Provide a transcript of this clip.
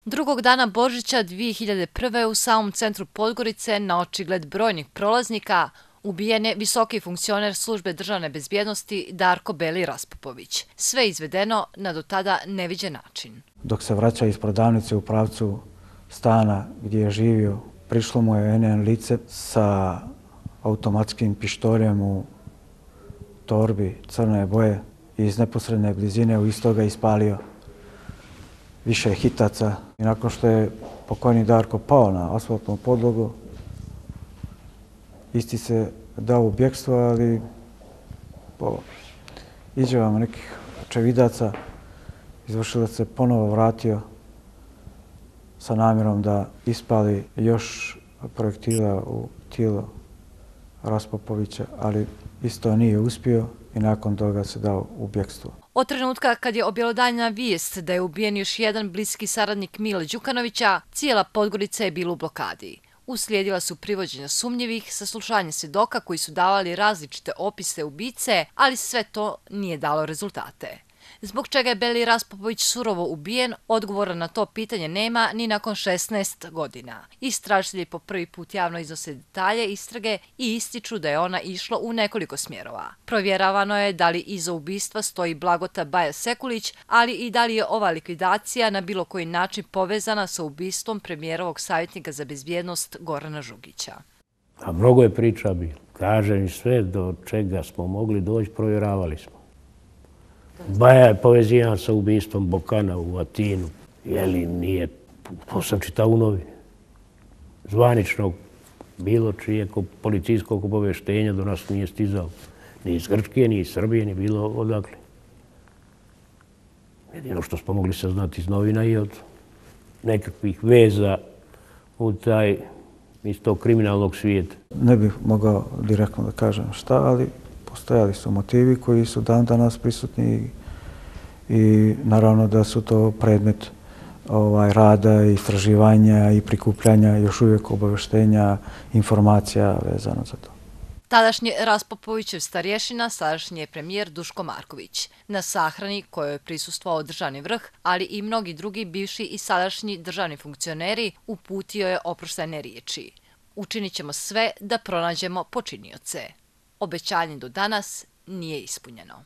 Drugog dana Božića 2001. u samom centru Podgorice, na očigled brojnih prolaznika, ubijen je visoki funkcioner službe državne bezbjednosti Darko Beli Raspupović. Sve izvedeno na do tada neviđen način. Dok se vraća iz prodavnice u pravcu stana gdje je živio, prišlo mu je NN lice sa automatskim pištoljem u torbi crne boje i iz neposredne blizine u istoga ispalio više hitaca. I nakon što je pokojni Darko pao na asfaltnu podlogu, isti se dao u bjekstvo, ali po izjavama nekih očevidaca izvršilac se ponovo vratio sa namjerom da ispali još projektila u tijelo Raspupovića, ali isto nije uspio i nakon toga se dao u bjekstvo. Od trenutka kad je objelodanjena vijest da je ubijen još jedan bliski saradnik Mile Đukanovića, cijela Podgorica je bila u blokadi. Uslijedila su privođenja sumnjivih, saslušanje svjedoka koji su davali različite opise ubice, ali sve to nije dalo rezultate. Zbog čega je Beli Raspupović surovo ubijen, odgovora na to pitanje nema ni nakon 16 godina. Istražitelji po prvi put javno iznose detalje istrage i ističu da je ona išla u nekoliko smjerova. Provjeravano je da li iza ubistva stoji Blagota Baja Sekulić, ali i da li je ova likvidacija na bilo koji način povezana sa ubistvom premijerovog savjetnika za bezbjednost Gorana Žugića. A mnogo je priča bilo. Kažem, sve do čega smo mogli doći, provjeravali smo. Baja je povezivan sa ubistvom Bokana u Atinu. Jeli nije, to sam čitao u novini. Zvaničnog bilo čijeg policijskog obavještenja do nas nije stizalo. Ni iz Grčke, ni iz Srbije, ni bilo odakle. Jedino što smo mogli saznati iz novina i od nekakvih veza u taj iz tog kriminalnog svijeta. Ne bih mogao direktno da kažem šta, ali postojali su motivi koji su dan danas prisutni i naravno da su to predmet rada, istraživanja i prikupljanja još uvijek obavještenja, informacija vezano za to. Tadašnji Raspupovićev starješina, sadašnji je premijer Duško Marković. Na sahrani kojoj je prisustvovao državni vrh, ali i mnogi drugi bivši i sadašnji državni funkcioneri, uputio je oproštajne riječi. Učinit ćemo sve da pronađemo počinioce. Obećanje do danas nije ispunjeno.